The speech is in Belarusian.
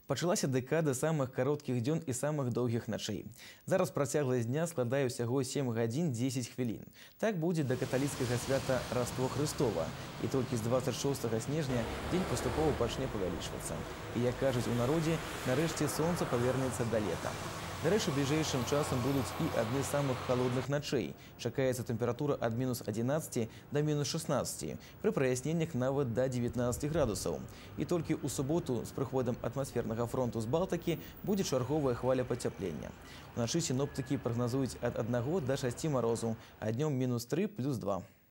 Пачалася дэкада самых кароткіх дзён і самых доўгіх начэй. Зараз працягласць дня складае ўсяго 7 гадзін 10 хвілін. Так будзе да каталіцкага свята Раство Хрыстова. І толькі з 26 снежня дзень паступова пачне павялічвацца. І, як кажуць у народзе, нарэшце сонца павернецца да лета. Дарэчы, бліжэйшым часам будуць і адны з самых халодных начэй. Чакаецца тэмпература ад -11 да -16, пры праясненнях нават да 19 градусаў. І толькі ў суботу з прыходам атмасфернага фронту з Балтыкі будзе чарговая хваля пацяплення. Уначы сіноптыкі прагназуюць ад 1 да 6 марозу, а днём -3 + 2.